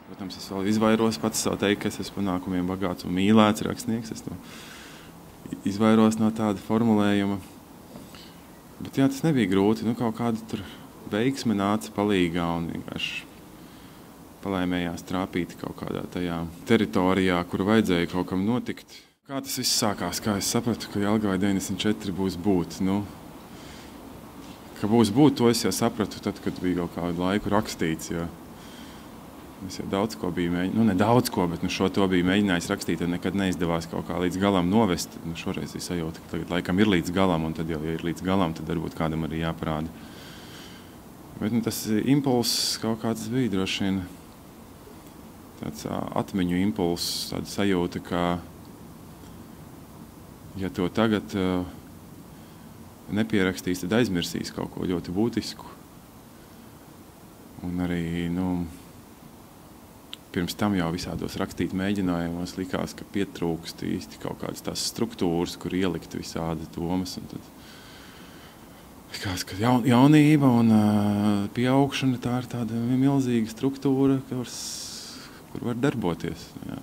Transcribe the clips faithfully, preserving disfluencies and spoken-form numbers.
Protams, es vēl izvairos pats sev teikt, ka es esmu panākumiem bagāts un mīlēts rakstnieks. Es to izvairos no tāda formulējuma. Bet jā, tas nebija grūti. Nu, kaut kāda tur veiksme nāca palīgā un vienkārši palaimējās trāpīt kaut kādā tajā teritorijā, kur vajadzēja kaut kam notikt. Kā tas viss sākās? Kā es sapratu, ka Jelgavai deviņdesmit četri būs būt? Nu, ka būs būt, to es jau sapratu tad, kad bija kaut kādu laiku rakstīts. Jo es jau daudz ko biju mēģinājis, nu ne daudz ko, bet nu, šo to biju mēģinājis rakstīt, un nekad neizdevās kaut kā līdz galam novest. Nu, šoreiz es sajūtu, ka tagad laikam ir līdz galam, un tad jau, ja ir līdz galam, tad varbūt kādam arī jāparāda. Bet nu, tas impulss kaut kāds bija droši vien tāds atmiņu impulss, tāda sajūta, ka ja to tagad uh, nepierakstīs, tad aizmirsīs kaut ko ļoti būtisku. Un arī, nu, pirms tam jau visādos rakstīt mēģinājumos likās, ka pietrūkst īsti kaut kādas tās struktūras, kur ielikt visādi domas. Un tad likās, ka jaun, jaunība un uh, pieaugšana tā ir tāda milzīga struktūra, kur, kur var darboties. Jā.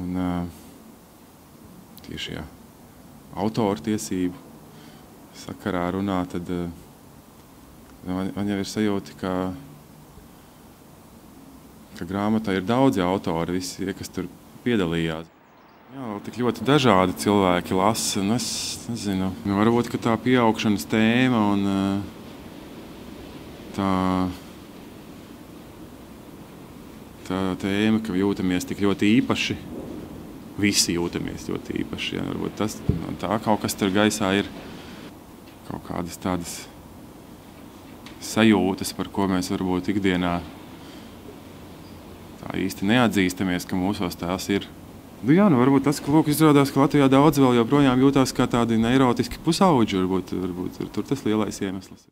Un uh, tieši jā, autoru tiesību sakarā runā, tad uh, man, man jau ir sajūta, ka ka grāmatā ir daudzi autori, visi, kas tur piedalījās. Jā, tik ļoti dažādi cilvēki lasa, un es nezinu, nu, varbūt, ka tā pieaugšanas tēma un tā, tā tēma, ka jūtamies tik ļoti īpaši, visi jūtamies ļoti īpaši, jā, varbūt tas, tā kaut kas tur gaisā ir kaut kādas tādas sajūtas, par ko mēs varbūt ikdienā tā īsti neatzīstamies, ka mūsos tās ir. Nu jā, nu varbūt tas, ka lūk, izrādās, ka Latvijā daudz vēl joprojām jūtās kā tādi neirotiski pusauģi, varbūt, varbūt tur tas lielais iemesls.